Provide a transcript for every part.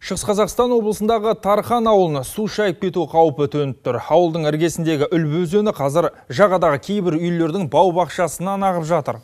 Шығыс Қазақстан облысындағы Тархан ауылына су шайып кету қаупі төніп тұр. Ауылдың іргесіндегі Үлбі өзені қазір жағадағы кейбір үйлердің бау-бақшасынан ағып жатыр.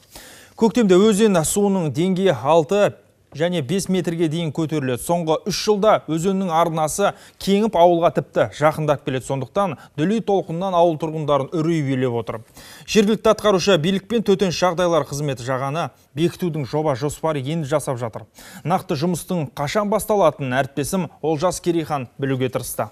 Көктемде өзен суының деңгейі 6 және 5 метрге дейін көтеріледі. Соңғы 3 жылда өзеннің арнасы кеңіп ауылға тіпті жақындап келеді. Сондықтан дүлей толқыннан ауыл тұрғындарын үрей билеп отыр. Жергілікті атқарушы билікпен төтенше жағдайлар қызметі жағаны бекітудің жоба жоспары енді жасап жатыр. Нақты жұмыстың қашан басталатынын әріптесім Олжас Керейхан білуге тырысты.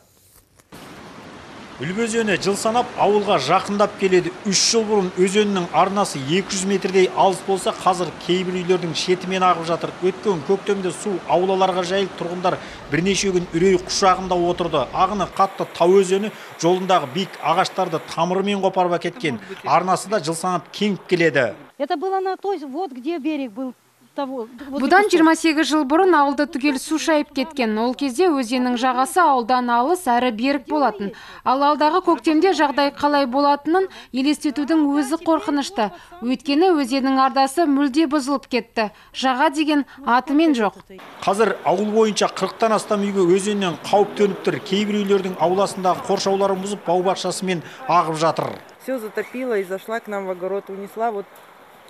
Үлбі өзені жыл санап ауылға жақындап келеді. 3 жыл бұрын өзеннің арнасы 200 метрдей алыс болса, қазір кейбір үйлердің шетімен ағып жатыр. Өткен көктемде су аулаларға жайылып, тұрғындар бірнеше күн үрей құшағында отырды. Ағыны қатты Тау өзені жолындағы биік ағаштарды тамырымен қопарып әкеткен. Арнасы да жыл санап кеңіп келеді. Это было на той, вот где берег был. Бұдан 28 жыл бұрын ауылды түгел су шайып кеткен. Ол кезде өзеннің жағасы ауылдан алыс әрі берік болатын. Ал алдағы көктемде жағдай қалай болатынын елестетудің өзі қорқынышты. Өйткені өзеннің арнасы мүлде бұзылып кетті. Жаға деген атымен жоқ. Қазір ауыл бойынша 40-тан астам үйге өзеннен қауіп төніп тұр. Кейбір үйлердің ауласындағы қоршауларын бұзып, бау-бақшасымен ағып жатыр. Все затопило и зашла к нам в огород, унесла вот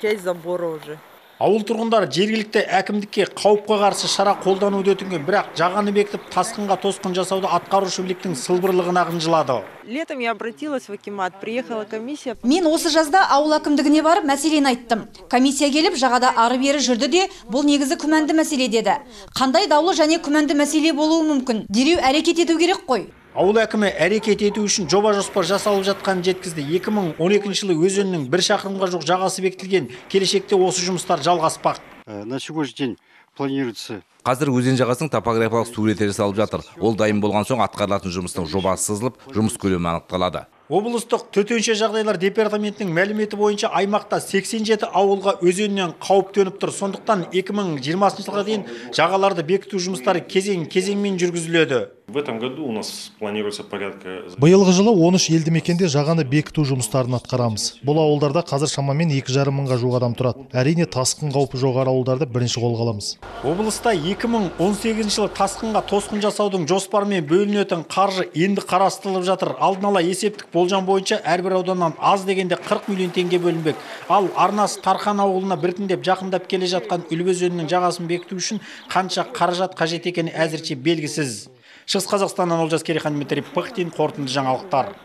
часть забора уже. Ауыл тұрғындары жергілікті әкімдікке қауіпке қарсы шара қолдануды өтінген, бірақ жағаны бекітіп тасқынға тосқын жасауды атқарушы биліктің сылбырлығына қынжылады. Летом я обратилась в акимат, приехала комиссия. Мен осы жазда ауыл әкімдігіне барып мәселені айттым. Комиссия келіп жағада ары-бері жүрді де, бұл негізі күмәнді мәселе деді. Қандай даулы және күмәнді мәселе болуы мүмкін? Дереу әрекет ету керек қой. Ауыл әкімі әрекет ету үшін жоба жоспар жасалып жатқанын жеткізді. 2012 жылы өзеннің 1 шақырымға жоқ жағасы бекітілген. Келешекте осы жұмыстар жалғаспақ. На сегодняшний день планируется. Қазір өзен жағасының топографиялық суреті жасалып жатыр. Ол дайын болған соң атқарылатын жұмыстың жобасы сызылып, жұмыс көлемі анықталады. Облыстық төтенше жағдайлар департаментінің мәліметі бойынша аймақта 87 ауылға өзеннен қауіп төніп тұр. Сондықтан 2020 жылға дейін жағаларды бекіту жұмыстары кезең-кезеңмен жүргізіледі. В этом году у нас планируется порядка... Биылғы жылы 13 елді мекенде жағаны бекіту жұмыстарын атқарамыз. Бұл ауылдарда қазір шамамен 2,5 мыңға жуық адам тұрады. Әрине тасқын қаупі жоғары ауылдарды бірінші қолға аламыз. Облыста 2018 жылы тасқынға тосқын жасаудың жоспарымен бөлінетін қаржы енді қарастырылып жатыр. Алдын ала есептік болжам бойынша әрбір ауданнан аз дегенде 40 миллион теңге бөлінбек. Ал арнасы Тархан ауылына біртіндеп жақындап келе жатқан Үлбі өзенінің жағасын бекіту үшін қанша қаражат қажет екені әзірше белгісіз. Шығыс Қазақстаннан Олжас Керейхан, Дмитрий Пыхтин, қорытынды жаңалықтар.